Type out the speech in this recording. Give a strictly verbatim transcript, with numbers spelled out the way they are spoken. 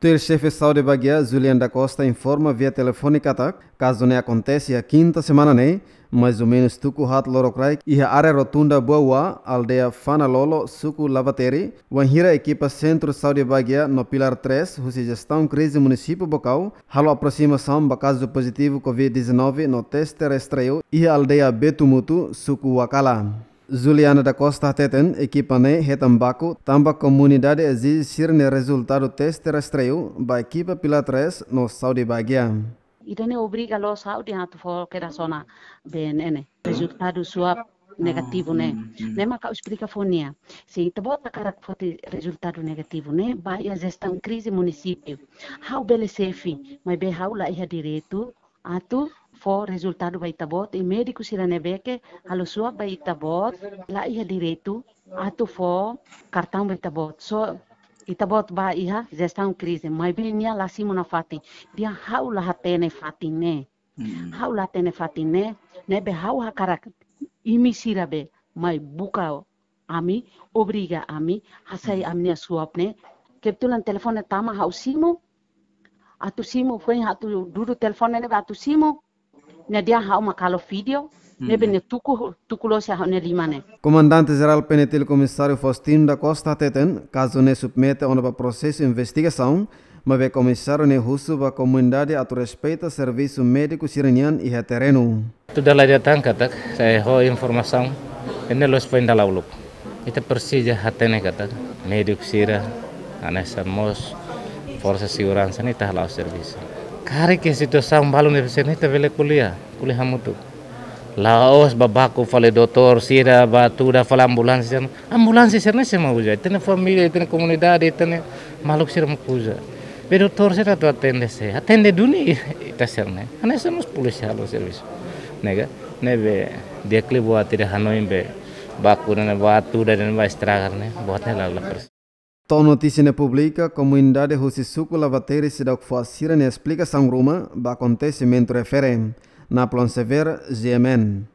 Tuir Xefe Saúde Baguia, Juliana da Costa, informa via telefone katak kazu ne'e akontese iha kinta semana ne'e, mais ou menus tuku haat lorokraik, iha área Rotunda Buaua, aldeia Fanalolo, suku Lavateiri, wainhira ekipa Sentru Saúde Baguia no Pilar três husi Jestaun Krize Munisípiu Baucau halo aprosimasaun ba kazu pozitivu covid dezanove no teste rastreiu iha aldeia Betumutu, suku Wakala. Juliana da Costa hateten, ekipa ne'e hetan baku tanba komunidade ezije sira-nia rezultadu teste rastreiu ba ekipa Pilar três no Saúde Baguia. Ida-ne'e obriga loos ha'u dehan atu fó kedas ona B N N. Rezultadu swab negativu ne'e. Ne'e mak ha'u esplika fó nia. Se ita-boot hakarak foti rezultadu negativu ne'e, bá iha Jestaun Krize Munisípiu. Ha'u bele xefe, maibé ha'u la iha direitu atu fó rezultadu ba ita-boot, i médiku sira ne'ebé ke halo swab ba ita-boot la iha direitu atu fó kartaun ba ita-boot. So, ita-boot bá iha Jestaun Krize, maibé nia la simu nafatin. Dehan ha'u la hatene fatin ne'e. Ha'u la hatene fatin ne'e, ne'ebé ha'u hakarak imi sira be mai buka ami, obriga ami hasai ami-nia swab ne'e. Kebetulan telefone tama, ha'u simu. Atu simu, foin atu dudu telefone ne'ebé atu simu. Nia dehan ha'u mak halo vídeo, ne'ebé nia tuku, tuku loos iha ha'u-nia liman ne'e. Komandante Jerál PNTL Komisáriu Faustino da Costa hateten, kazu ne'e submete ona ba prosesu investigasaun, maibé komisáriu ne'e husu ba komunidade atu respeita servisu médiku sira-nian iha terrenu. Atu dala ida tan katak, sai ho informasaun, ida-ne'e loos foin dala uluk. Ita presiza hatene katak médiku sira, hanesan mós forsa seguransa ne'e ita hala'o servisu. Karik iha situasaun balu ne'e, ita bele ko'alia, ko'alia hamutuk. La'ós bá baku fali doutór sira, bá tuda fali ambulánsia sira. Ambulánsia sira-ne'e sé mak uza? Ita-nia família, ita-nia komunidade, ita-nia maluk sira mak uza. Be doutór sira atu atende sé? Atende duni ita sira-ne'e. Hanesan mós polísia halo servisu. Ne'e ka? Ne'ebé di'ak liu buat ida hanoin be baku ne'e, bá tuda ne'e, bá estraga ne'e, buat ne'e la, la presiza. To'o notísia ne'e publika, komunidade husi suku Lavateiri seidauk fó sira-nia esplikasaun ruma ba akontesimentu refere. Napoleon Xavier, G M N.